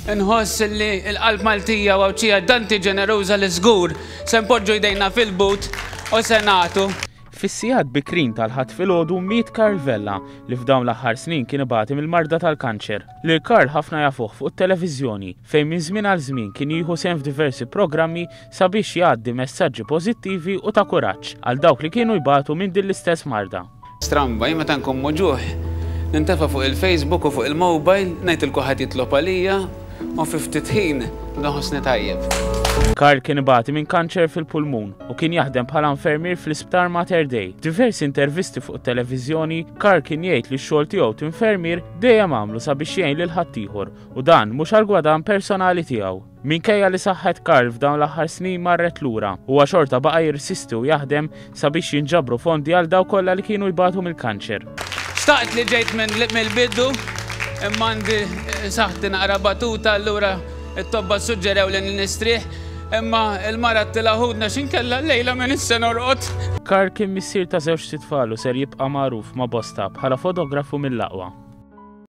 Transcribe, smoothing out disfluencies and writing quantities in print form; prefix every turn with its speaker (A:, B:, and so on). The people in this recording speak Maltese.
A: Inħoss li l-qalb Maltija u Għawdxija danti ġeneruża li żgur se npoġġu jdejna fil-but u se nagħtu.
B: Fis-sigħat bikrin tal-Ħadd filgħodu miet Karl Vella li f'dawn l-aħħar snin kien ibati mill-marda tal-kanċer. Lil Karl ħafna jafuh fuq it-televiżjoni fejn minn żmien għal żmien kien jieħu sehem f'diversi programmi sabiex jgħaddi messaġġi pożittivi u ta' kuraġġ għal dawk li kienu jbatu minn din l-istess marda.
A: Stramba, jien meta nkun muġugħ, nintefa' fuq il-Facebook u fuq il-mobile, ngħid lil kulħadd jitlob għalija u fi ftit ħin nibda nħossni tajjeb.
B: Karl kien ibati minn kanċer fil-pulmun u kien jaħdem bħala infermier fl-Isptar Mater Dei. F'diversi intervisti fuq it-televiżjoni, Karl kien jgħid li x-xogħol tiegħu t'infermier dejjem għamlu sabiex jgħin lil ħaddieħor u dan mhux għall-gwadann personali tiegħu. Minkejja li saħħet Karl f'dawn l-aħħar snin marret lura, huwa xorta baqa' jirsisti u jaħdem sabiex jinġabru fondi għal dawk kollha li kienu jbatu mill-kanċer.
A: Xtaqt li ġejt mill-bidu, imma għandi saħħti naqra batuta allura t-tobba ssuġġerew li nistrieħ, imma l-mara għedtilha ħudna x'inkella llejla m'iniex se norqod.
B: Karl kien missier ta' żewġt itfal u ser jibqa' magħruf ma' bosta bħala fotografu mill-aqwa.